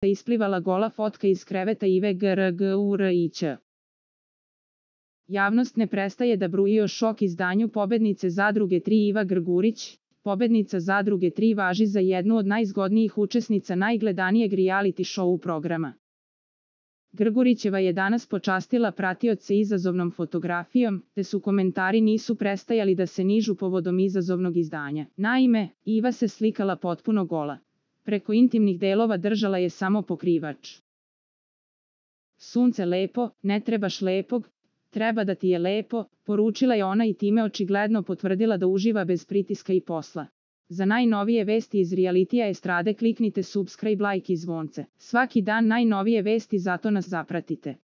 isplivala gola fotka iz kreveta Ive Grgurić. Javnost ne prestaje da bruji o šok izdanju pobednice Zadruge 3 Iva Grgurić. Pobednica Zadruge 3 važi za jednu od najzgodnijih učesnica najgledanijeg reality show programa. Grgurićeva je danas počastila pratioce izazovnom fotografijom, te su komentari nisu prestajali da se nižu povodom izazovnog izdanja. Naime, Iva se slikala potpuno gola. Preko intimnih delova držala je samo pokrivač. Sunce lepo, ne trebaš lepog, treba da ti je lepo, poručila je ona i time očigledno potvrdila da uživa bez pritiska i posla. Za najnovije vesti iz realitija estrade kliknite subscribe, like i zvonce. Svaki dan najnovije vesti, zato nas zapratite.